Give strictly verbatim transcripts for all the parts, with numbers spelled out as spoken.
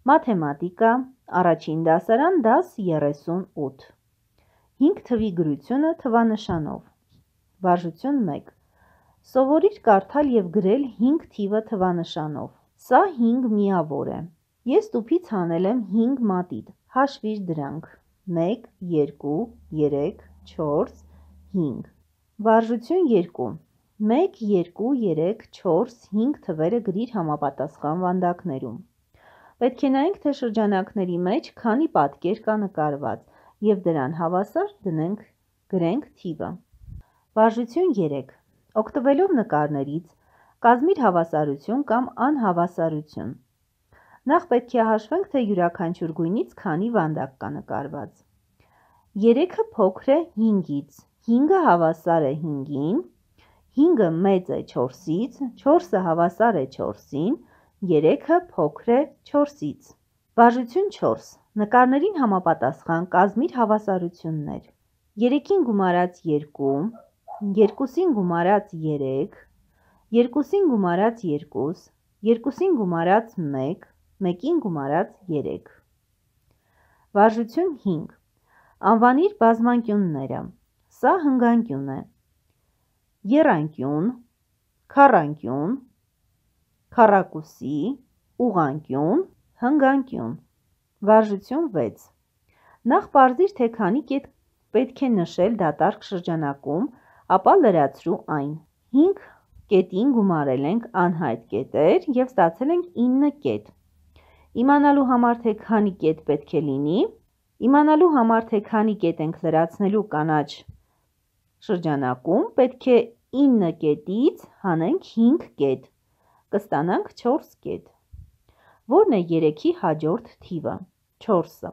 Մաթեմատիկա, առաջին դասարան, դաս երեսունութ։ հինգ թվի գրությունը թվանշանով։ Վարժություն մեկ։ Սովորիր կարդալ և գրել հինգ թիվը թվանշանով։ Սա հինգ միավոր է։ Ես տուփից հանել եմ հինգ մատիտ, հաշվիր դրանք։ մեկ, երկու, երեք, չորս, հինգ։ Վարժություն երկու։ մեկ, երկու, երեք, չորս, հինգ թվերը գրիր համապատասխան վանդակներում։ Պետք է նայենք, թե շրջանակների մեջ քանի պատկեր կա նկարված և դրան հավասար դնենք գրենք թիվը։ Վարժություն երեք։ Օգտվելով նկարներից կազմիր հավասարություն կամ անհավասարություն։ Նախ պետք է հաշվենք, թե յուրաքանչյուր գույնից քանի վանդակ կա նկարված։ երեքը փոքր է հինգից, հինգը հավասար է հինգին, հինգը մեծ է չորսից, չորսը հավասար է չորսին, երեքը փոքր է չորսից։ Վարժություն չորս։ Նկարներին համապատասխան կազմիր հավասարություններ։ երեքին գումարած երկու, երկուսին գումարած երեք, երկուսին գումարած երկուս, երկուսին գումարած մեկ, մեկին գումարած երեք։ Վարժություն հինգ։ Անվանիր բազմանկյունները։ Սա հնգանկյուն է։ Եռանկյուն, քառանկյուն, քառակուսի, ուղղանկյուն, հնգանկյուն։ Վարժություն վեց։ Նախ պարզիր, թե քանի կետ պետք է նշել դատարկ շրջանակում, ապա լրացրու այն։ հինգ կետին գումարել ենք անհայտ կետեր և ստացել ենք ինը կետ։ Իմանալու համար, թե քանի կետ պետք է լինի, իմանալու համար, թե քանի կետ ենք լրացնելու կանաչ շրջանակում, պետք է ինը կետից հանենք հինգ կետ, կստանանք չորս կետ։ Ո՞րն է երեքի հաջորդ թիվը։ չորսը։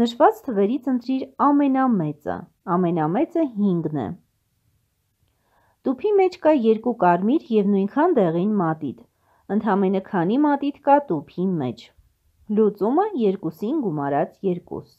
Նշված թվերից ընտրիր ամենամեծը, ամենամեծը հինգն է։ Տուփի մեջ կա երկու կարմիր և նույնքան դեղին մատիտ, ընդամենը քանի մատիտ կա տուփի մեջ։ Լուծումը երկուսին գումարած երկուս։